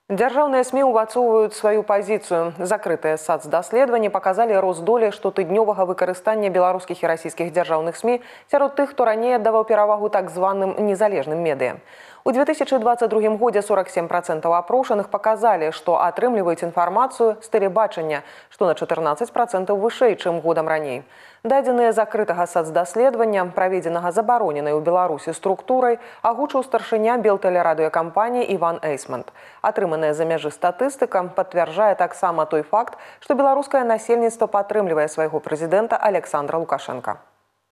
Дзяржаўныя СМИ ўвацоўваюць сваю пазіцыю. Закрытыя сацдаследаванні паказалі рост долі штотыднёвага выкарыстання беларускіх і расійскіх дзяржаўных СМИ сярод тых, хто раней аддаваў перавагу так званым незалежным медыа. У 2022 годзе 47% апрошаных паказалі, што атрымліваюць інфармацыю з тэлебачання, што на 14% вышэй, чым годам раней. Дадзеныя закрытага сацдаследавання, праведзенага забароненай у Беларусі структурай, агучыў старшыня белтэлерадыёкампаніі Іван Эйсмонт. Атрыманая за мяжы статыстыка пацвярджае таксама той факт, што беларускае насельніцтва падтрымлівае свайго прэзідэнта Александра Лукашенка.